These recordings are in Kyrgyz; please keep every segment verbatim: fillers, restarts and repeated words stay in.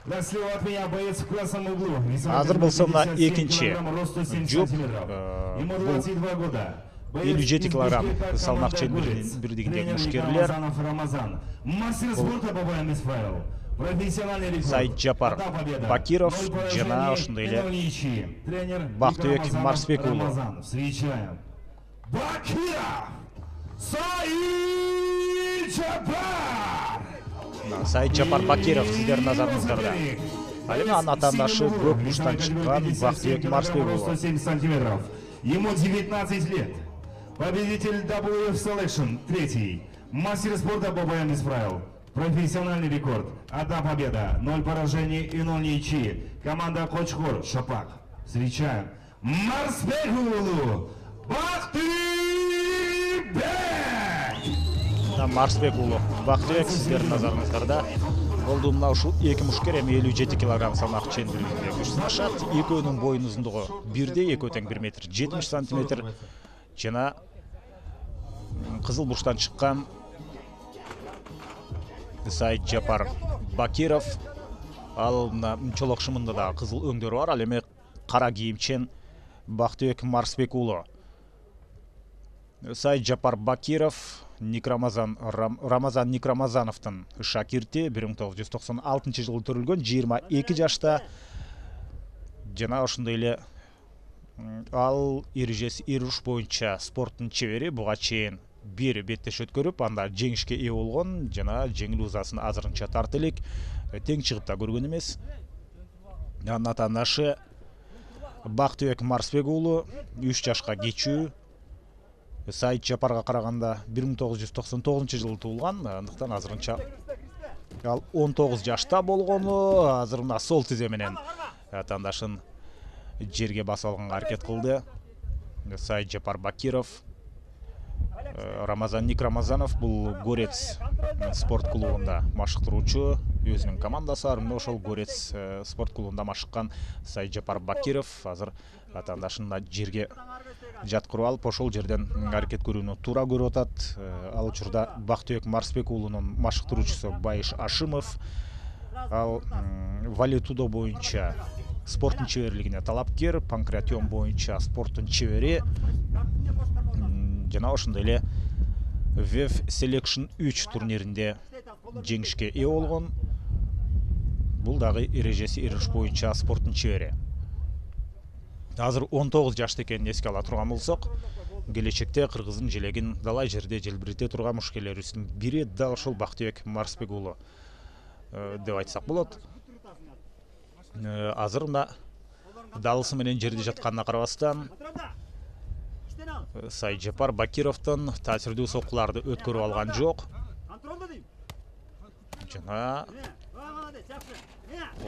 Слева от меня боец в красном углу. Азыр болсо мына экинчи жоп. Ему двадцать два года. элүү жети килограмм салмак чембирдигиндеги мушкерлер. Мастер спорта по боям без правил. Профессиональный рекорд. Саиджапар Бакиров жана ошондой эле Бактыбек Марсбек уулу. Встречаем. Бакиров Саиджапар. Саиджапар Бакиров сиздердин назарыңыздарда. Ал эми анын атаандашы көк буштан чыккан Бактыбек Марсбек уулу. сто семьдесят сантиметров. Ему девятнадцать лет. Победитель дабл ю эф Selection, третий. Мастер спорта по боям без правил. Профессиональный рекорд. Одна победа, ноль поражений и ноль ничьи. Команда Кочкор, Шапак. Встречаем. Марсбек уулу Бактыбек. Марсбек уулу Бактыбек сиздердин назарыңыздарда. Болду мына ушул эки мушкер эми элүү жети килограмм салмак чембиринде күч сынашат. Экөөнүн боюн узундугу бирдей, экөө тең бир метр жетимиш сантиметр. Жана кызыл бурчтан чыккан Саиджапар Бакиров. Ал мына чолок шымында да кызыл өңдөрү бар. Ал эми кара кийимчен Бактыбек Марсбек уулу. Саиджапар Бакиров Никрамазан Рамазан Никрамазановдун шакирти, бир миң тогуз жүз токсон алтынчы жылы төрүлгөн, жыйырма эки жашта. Жана ошондой эле ал эрежеси эруш боюнча спорттун чебери, буга чейин бир беттеш өткөрүп, анда жеңишке ээ болгон жана жеңил узасын азырынча тарт элек, тең чыгып да көргөн эмес. Анын атаандашы Бактыбек Марсбек уулу үч жашка кечүү. Саиджапарга караганда бир миң тогуз жүз токсон тогузунчу жылы туулган, андыктан азырынча ал он тогуз жашта болгону, азыр мына сол тизе менен атаандашын жерге басып алганга аракет кылды. Саиджапар Бакиров. Рамазан Никрамазанов бул Горец спорт клубунда машыктыруучу, өзүнүн командасы бар. Мына ошол Горец спорт клубунда машыккан Саиджапар Бакиров азыр атаандашын жерге жаткырып алып, ошол жерден аракет көрүүнү туура көрүп атат. Ал учурда Бактыбек Марсбек уулунун машыктыруучусу Байыш Ашимов. Ал валетудо боюнча спорттун чеберлигине талапкер, панкратион боюнча спорттун чебери. Жана ошондой эле ви эф Selection үч турниринде жеңишке ээ болгон. Бул дагы эрежеси эруш боюнча спорттун чебери. Азыр он тогуз жашта экенин эске ала турган болсок, келечекте кыргыздын желегин далай жерде желбирете турган мушкерлерибиздин бири дал ошол Бактыбек Марсбек уулу деп айтсак болот. Азыр мына далысы менен жерде жатканына карабастан Саиджапар Бакировдон таасирдүү соккуларды өткөрүп алган жок. Жана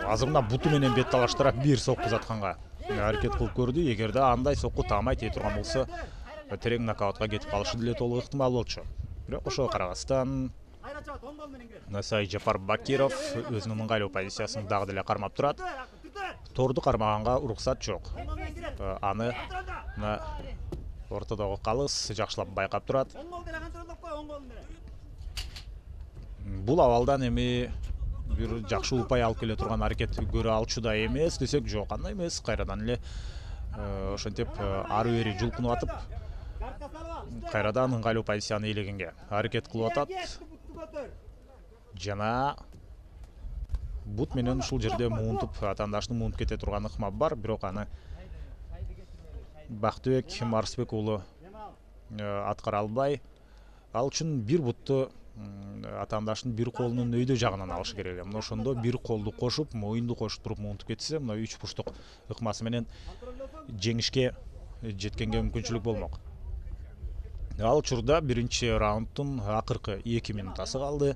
азыр мына буту менен бет талаштырып бир сокку затканга аракет кылып көрдү. Эгерде андай сокку таамай тээ турган болсо, терең нокаутка кетип калышы деле толук ыктымал болчу. Бирок ошого карабастан Саиджапар Бакиров өзүнүн ыңгайлуу позициясын дагы деле кармап турат. Торду кармаганга уруксат жок. Аны мына ортодогу калыс жакшылап байкап турат. Бул абалдан эми бир жакшы упай алып келе турган аракет көрө алчу да эмес десек жок, андай эмес. Кайрадан эле ошентип ары бери жулкунуп атып, кайрадан ыңгайлуу позицияны ээлегенге аракет кылып атат. Жана бут менен ушул жерде муунтуп, атаандашты муунтуп кете турган ыкма бар, бирок аны Бактыбек Марсбек уулу аткара албай, ал үчүн бир бутту атаандашын бир колунун өйдө жагынан алышы керек. Мына ошондо бир колду кошуп, моюнду кошуп туруп муунтуп кетсе, мына үч бурчтук ыкмасы менен жеңишке жеткенге мүмкүнчүлүк болмок. Ал учурда биринчи раунддун акыркы эки минутасы калды.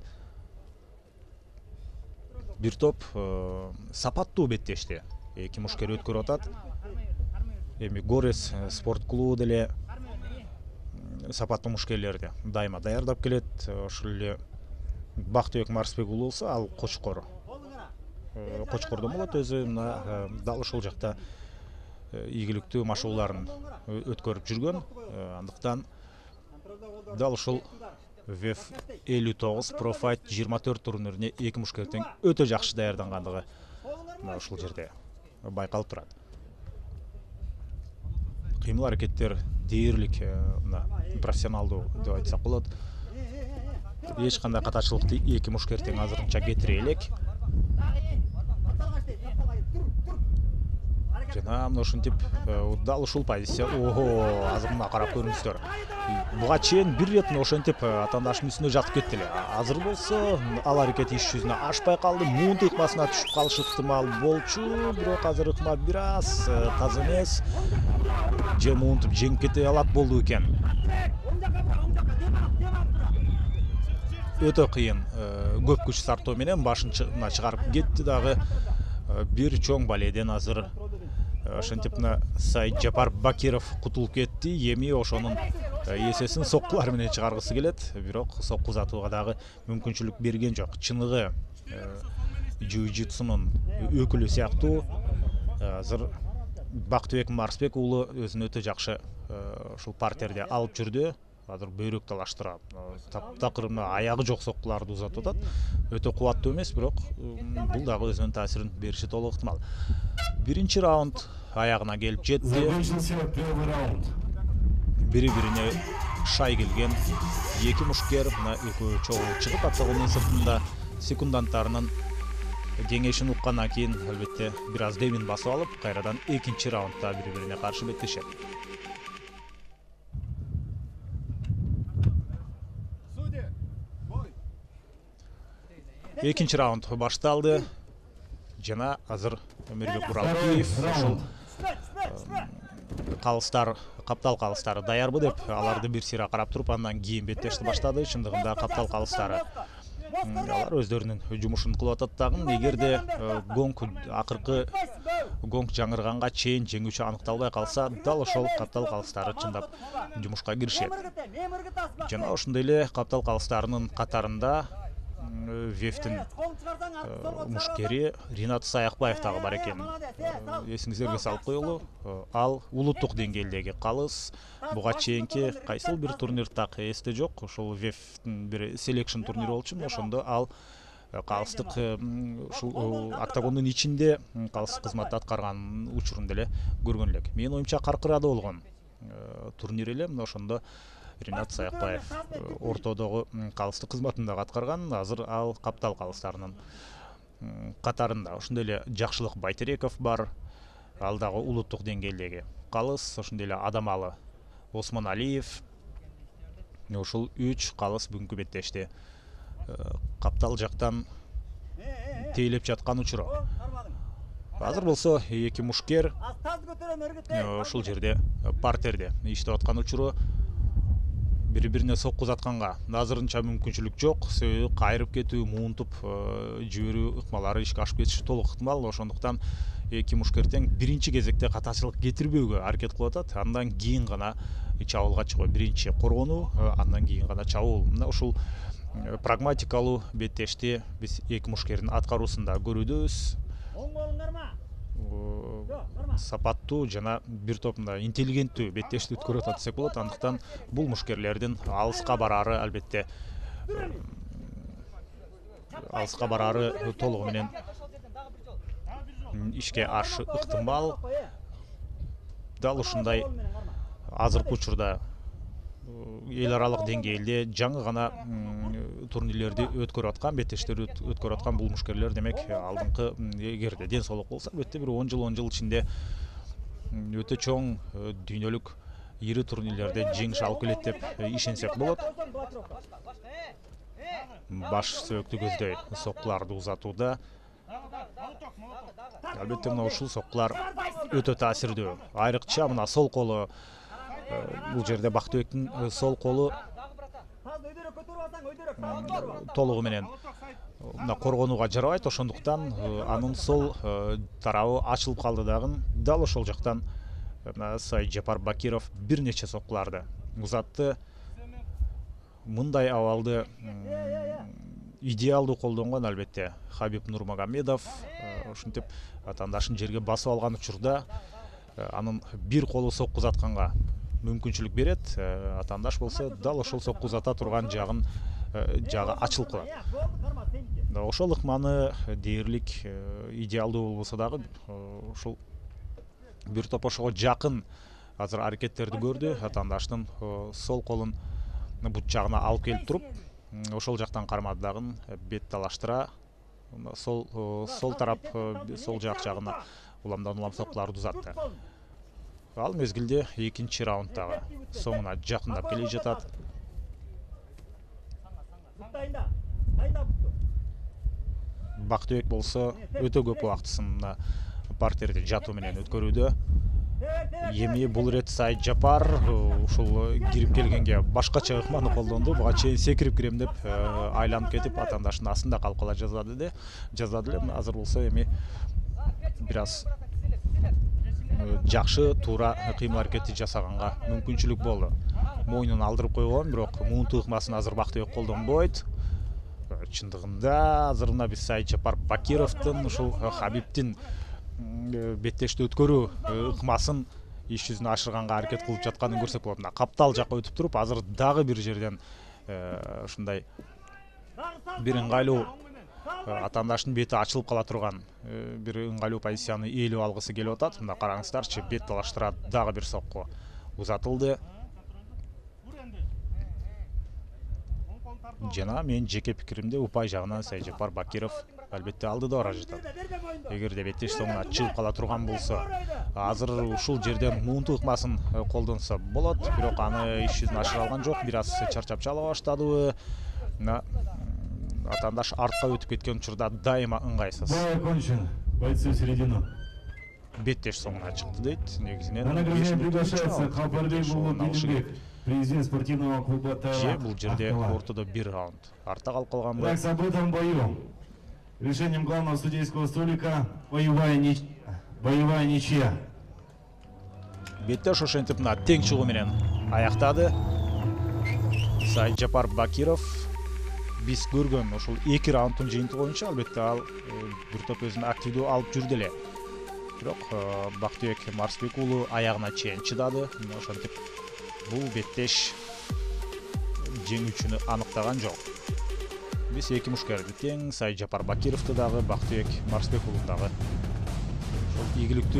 Бир топ сапаттуу беттешти эки мушкер өткөрүп атат. Эми Горец спорт клубу деле сапаттуу мушкерлерди дайыма даярдап келет. Ошол эле Бактыбек Марсбек уулу болсо, ал Кочкор. Кочкордон болот өзү, мына дал ошол жакта ийгиликтүү машыгууларын өткөрүп жүргөн. Андыктан дал ушул ви эф элүү тогуз Pro Fight жыйырма төрт турнирине эки мушкер тең өтө жакшы даярдангандыгы мына ушул жерде байкалып турат. Кыймыл аракеттер дээрлик, мына профессионалдуу деп айтсак болот. Эч кандай катачылыкты эки мушкер тең азырынча кетире элек. Жана мына ушинтип дал ушул позиция. Ого, азыр мына карап көрүңүздөр. Буга чейин бир рет ошентип атаандаштын үстүнө жатып кетти эле. Азыр болсо ал аракет иш жүзүнө ашпай калды. Муунт ыкмасына түшүп калышы ыктымал болчу, бирок азыр ыкма бир аз таза эмес. Же муунтуп жеңип кете алат болду экен. Өтө кыйын, көп күч сартоо менен башын чыгарып кетти дагы. Бир чоң баледен азыр ошентип мына Саид Жапар Бакиров кутулуп кетти. Эми ошонун эсесин соккулар менен чыгаргысы келет, бирок сокку узатууга дагы мүмкүнчүлүк берген жок. Чыныгы жиу-джитсунун өкүлү сыяктуу азыр Бактыбек Марсбек уулу өзүн өтө жакшы ушул партерде алып жүрдү. Азыр бөйрөк талаштырат. Таптакыр аягы жок соккуларды узатып атат. Өтө кубаттуу эмес, бирок бул дагы өзүнүн таасирин бериши толук ыктымал. Биринчи раунд аягына келип жетти. Бири-бирине шай келген эки мушкер, мына экөө чогуу чыгып октагондун сыртында секунданттарынын кеңешин уккандан кийин албетте бир аз демин басып алып, кайрадан экинчи раундда бири-бирине каршы беттешет. Экинчи раунд башталды. Жана азыр Өмүрбек Буралкиев ушул калыстар, каптал калыстары даярбы деп аларды бир сыйра карап туруп, андан кийин беттешти баштады. Чындыгында каптал калыстары алар өздөрүнүн жумушун кылып атат дагы. Эгерде гонг акыркы гонг жаңырганга чейин жеңүүчү аныкталбай калса, дал ошол каптал калыстары чындап жумушка киришет. Жана ошондой эле каптал калыстарынын катарында Вефтин мушкери Ринат Саякбаев дагы бар экен. Эсиңиздерге салып коелу, ал улуттук деңгээлдеги калыс. Буга чейинки кайсыл бир турнир так эсте жок. Ошол Вефтин бир селекшн турнири болчу. Ошондо ал калыстык ушул октагондун ичинде калыстык кызматты аткарган учурун деле көргөн элек. Менин оюмча Каркырада болгон турнир эле. Мына ошондо Ринат Саякбаев ортодогу калыстык кызматын дагы аткарган. Азыр ал каптал калыстарынын катарында. Ошондой эле Жакшылык Байтереков бар. Ал дагы улуттук деңгээлдеги калыс. Ошондой эле Адамалы Осмоналиев. Ушул үч калыс бүгүнкү беттешти каптал жактан тейлеп жаткан учуру. Азыр болсо эки мушкер ушул жерде партерде иштеп аткан учуру. Бири-бирине сокку узатканга азырынча мүмкүнчүлүк жок. Себеби кайрып кетүү, муунтуп жиберүү ыкмалары ишке ашып кетиши толук ыктымал. Ошондуктан эки мушкер тең биринчи кезекте катачылык кетирбөөгө аракет кылып атат. Андан кийин гана чабуулга чыгуу. Биринчи коргонуу, андан кийин гана чабуул. Мына ушул прагматикалуу беттешти биз эки мушкердин аткаруусунда көрүүдөбүз. Сапаттуу жана бир топ мындай интеллигенттүү беттешти өткөрүп атат десек болот. Андыктан бул мушкерлердин алыска бараары албетте алыска бараары толугу менен ишке ашышы ыктымал. Дал ушундай азыркы учурда эл аралык деңгээлде жаңы гана турнирлерди өткөрүп аткан, беттештерди өткөрүп аткан бул мушкерлер демек алдыңкы эгерде ден соолук болсо албетте бир он жыл он жыл ичинде өтө чоң дүйнөлүк ири турнирлерде жеңиш алып келет деп ишенсек болот. Баш сөөктү көздөй соккуларды узатууда албетте мына ушул соккулар өтө таасирдүү. Айрыкча мына сол колу, бул жерде Бактыбектин сол колу толугу менен мына коргонууга жарабайт. Ошондуктан анын сол тарабы ачылып калды дагы. Дал ошол жактан мына Саид Жапар Бакиров бир нече соккуларды узатты. Мындай абалды идеалдуу колдонгон албетте Хабиб Нурмагомедов. Ушинтип атаандашын жерге басып алган учурда анын бир колу сокку узатканга мүмкүнчүлүк берет. Атаандаш болсо дал ошол сокку узата турган жагын жагы ачылып калат. ошол ыкманы дээрлик идеалдуу болбосо дагы ушул бир топ ошого жакын азыр аракеттерди көрдү. Атаандаштын сол колун бут жагына алып келип туруп, ошол жактан кармады дагы бет талаштыра сол сол тарап сол жак жагына уламдан улам соккуларды узатты. Ал мезгилде экинчи раунддагы соңуна жакындап келе жатат. Бактыбек болсо өтө көп убактысын партерде жатуу менен өткөрүүдө. Эми бул ирет Саид Жапар ушул кирип келгенге башкача ыкманы колдонду. Буга чейин секирип кирем деп айланып кетип атаандаштын астында калып кала жаздады де жаздады эле. Азыр болсо эми бир аз жакшы туура кыймыл аракетти жасаганга мүмкүнчүлүк болду. Мойнун алдырып койгон, бирок муунту ыкмасын азыр Бактыбек колдонбойт. Чындыгында азыр мына биз Саид Жапар Бакировдун ушул Хабибдин беттешти өткөрүү ыкмасын иш жүзүнө ашырганга аракет кылып жатканын көрсөк болот. Мына каптал жакка өтүп туруп, азыр дагы бир жерден ушундай бир ыңгайлуу атаандаштын бети ачылып кала турган бир ыңгайлуу позицияны ээлеп алгысы келип атат. Мына караңыздарчы, бет талаштыра дагы бир сокку узатылды. Жана менин жеке пикиримде упай жагынан Саид Жапар Бакиров албетте алдыда бара жатат. Эгерде беттеш соңуна чыгып кала турган болсо, азыр ушул жерден муунту ыкмасын колдонсо болот, бирок аны иш жүзүнө ашыра алган жок. Бир аз чарчап чала баштадыбы. Атаандаш артка өтүп кеткен учурда дайыма ыңгайсыз. Бой окончен. Бойцы в середину. Беттеш соңуна чыкты дейт. Негизинен На награждение приглашается Калпарбек Булатбек, президент спортивного клуба Же бул жерде ортодо бир раунд артта калып калган Так, с событием бою. Решением главного судейского столика боевая ничья. Боевая ничья. Беттеш ошентип мына тең чыгуу менен аяктады. Саид Жапар Бакиров биз көргөн ушул эки раунддун жыйынтыгы боюнча албетте ал бир топ өзүн активдүү алып жүрдү эле. Бирок Бактыбек Марсбек уулу аягына чейин чыдады. Ошентип бул беттеш жеңүүчүнү аныктаган жок. Биз эки мушкерди тең, Саид Жапар Бакировду дагы, Бактыбек Марсбек уулун дагы ошол ийгиликтүү